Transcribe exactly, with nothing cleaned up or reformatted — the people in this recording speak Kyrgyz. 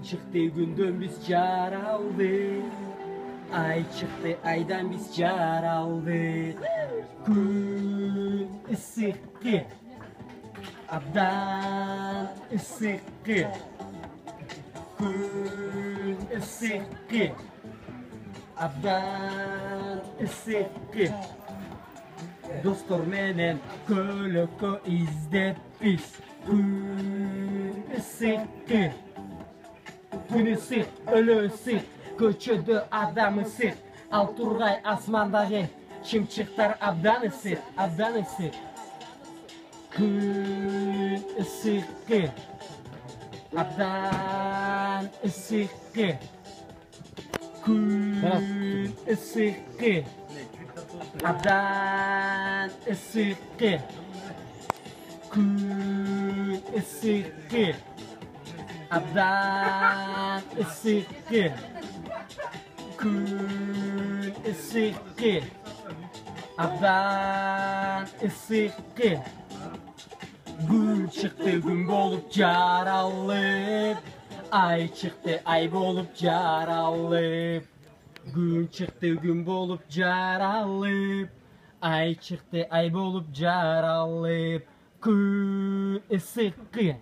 чыкты күндөн биз жаралдык, ай чыкты айдан биз жаралдык. Күн ысыкы, абдан ысыкы. Күн ысыкы, абдан ысыкы. Достор менен көлөккө издеп биз. Күн ысыкы, күн ысык, өлө ысык, көчөдө адам ысык. Ал тургай асмандагы чымчыктар абдан ысык, абдан ысык. Күн ысыкы, абдан ысыкы. Күн ысыкы, абдан ысыкы. Күн ысыкы, абдан ысыкы. Күн ысыкы, абдан ысыкы. Күн чыкты күн болуп жаралып, ай чыкты ай болуп жаралып. Күн чыкты күн болуп жаралып, ай чыкты ай болуп жаралып. Күн ысыкы.